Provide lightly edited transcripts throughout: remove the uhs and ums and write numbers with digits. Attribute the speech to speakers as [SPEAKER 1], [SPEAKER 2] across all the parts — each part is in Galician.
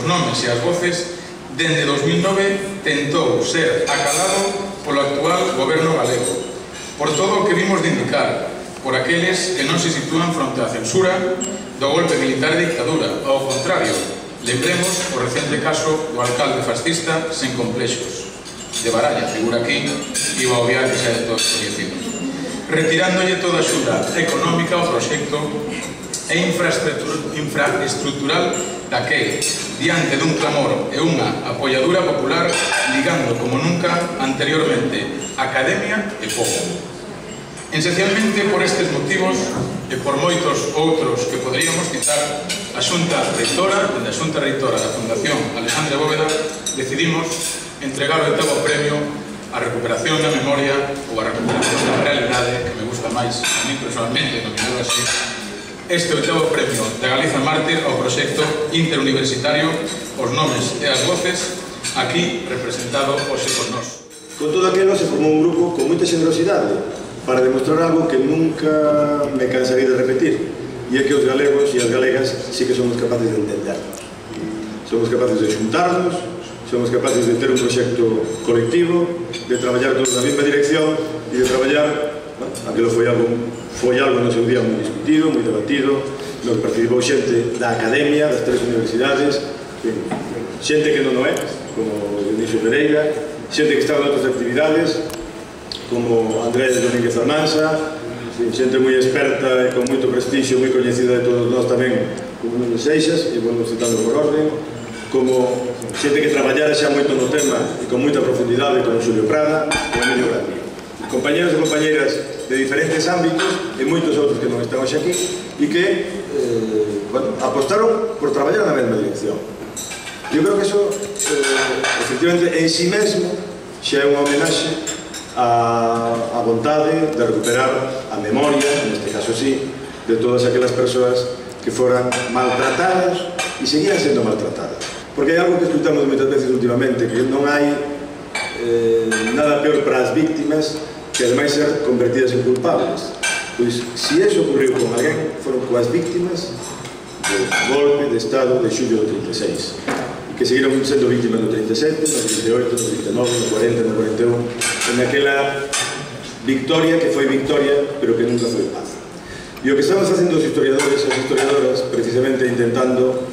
[SPEAKER 1] nomes e as voces, dende 2009 tentou ser acalado polo actual goberno galego, por todo o que vimos de indicar, por aqueles que non se sitúan fronte á censura do golpe militar e dictadura. Ao contrario, lembremos o recente caso do alcalde fascista sen complexos, de Baralla, figura aquí, iba a obviar que xa é todo coñecido, retirándolle toda a axuda económica ao proxecto e infraestructural daquel, diante dun clamor e unha apoiadura popular, ligando como nunca anteriormente academia e povo. Esencialmente por estes motivos e por moitos outros que poderíamos citar, a Xunta Reitora da Fundación Alexandre Bóveda decidimos entregar o 8º premio a recuperación da memoria ou a recuperación da realidade, que me gusta máis a mí personalmente, nominado así, este 8º premio de Galiza Mártir ao proxecto interuniversitario Os Nomes e as Voces, aquí representado hoxe por nós.
[SPEAKER 2] Con todo aquilo se formou un grupo con moita generosidade para demostrar algo que nunca me cansaré de repetir, e é que os galegos e as galegas sí que somos capaces de entender. Somos capaces de xuntarnos, somos capaces de ter un proxecto colectivo, de traballar todos na mesma dirección e de traballar, aquilo foi algo no seu día moi discutido, moi debatido, no que participou xente da academia, das 3 universidades, xente que non o é, como Dionisio Pereira, xente que estaba en outras actividades, como Andrés Domínguez Almansa, xente moi experta e con moito prestixio, moi coñecida de todos nós tamén, como Nuno Seixas, e vamos citando por orden, como xente que traballara xa moito no tema e con moita profundidade, como Xulio Prada ou Emilio Grandío. Compañeros e compañeras de diferentes ámbitos e moitos outros que non están hoxe aquí e que apostaron por traballar na mesma dirección. Eu creo que iso, efectivamente, en si mesmo xa é unha homenaxe a vontade de recuperar a memoria, neste caso sí, de todas aquelas persoas que foran maltratadas e seguían sendo maltratadas. Porque hai algo que escutamos moitas veces últimamente, que non hai nada peor para as víctimas que ademais ser convertidas en culpables. Pois, se iso ocurriu con alguén, foron coas víctimas do golpe de Estado de xullo do 36, que seguiron sendo víctimas no 37, no 38, no 39, no 40, no 41, en aquela victoria que foi victoria, pero que nunca foi paz. E o que estamos facendo os historiadores e as historiadoras, precisamente intentando,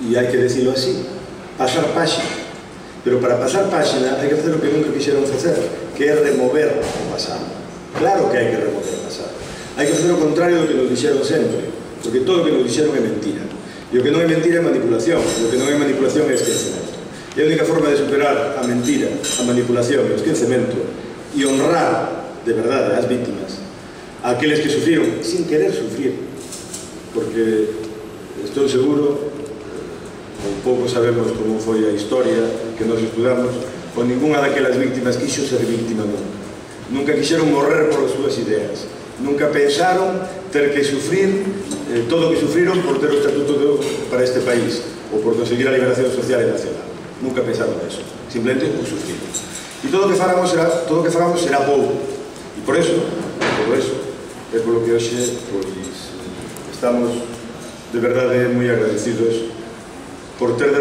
[SPEAKER 2] e hai que decirlo así, pasar páxina. Pero para pasar páxina hai que facer o que nunca quixeron facer, que é remover o pasado. Claro que hai que remover o pasado. Hai que facer o contrario do que nos dixeron sempre, porque todo o que nos dixeron é mentira. E o que non é mentira é manipulación, e o que non é manipulación é esquecemento. E a única forma de superar a mentira, a manipulación e o esquecemento e honrar de verdade as víctimas, a aqueles que sufriron sin querer sufrir, porque estou seguro, un pouco sabemos como foi a historia que nos estudamos, con ninguna daquelas víctimas quixo ser víctima nunca. Nunca quixeron morrer por as súas ideas. Nunca pensaron ter que sufrir todo o que sufriron por ter o estatuto para este país ou por conseguir a liberación social e nacional. Nunca pensaron eso. Simplemente o sufriron. E todo o que fagamos será pouco. E por eso, é polo que hoxe estamos de verdade moi agradecidos por ter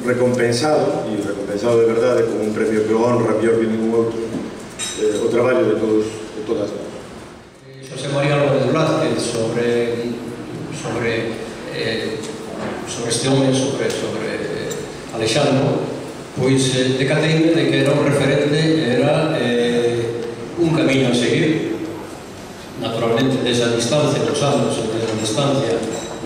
[SPEAKER 2] recompensado, e recompensado de verdade con un premio que honra mellor que ningún outro, o traballo de todos e todas nós.
[SPEAKER 3] José María Álvarez Blázquez sobre este home, sobre Alexandre, pois decateime de que era un referente, era un camiño a seguir, naturalmente desde a distancia dos anos, desde a distancia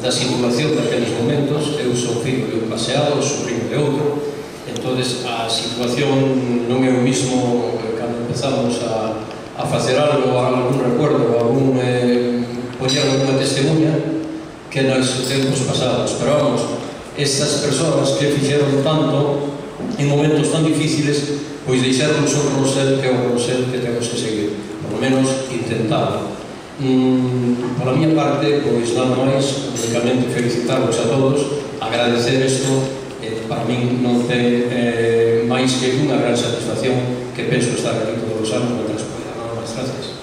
[SPEAKER 3] da situación daqueles momentos. Eu sou fillo de un paseado, sobrinho de outro, entonces a situación non é o mismo cando empezamos a facer algo, algún recuerdo, poñer alguna testemunha que nos tempos pasados. Pero vamos, estas persoas que fixeron tanto en momentos tan difíciles, pois deixaron un rosel que é o rosel que temos que seguir, por lo menos intentarlo. Pola miña parte, pois nada máis, únicamente felicitarvos a todos, agradecer isto, para min non ten máis que unha gran satisfacción, que penso estar aquí todos os anos, mentras poida. Nada máis, gracias.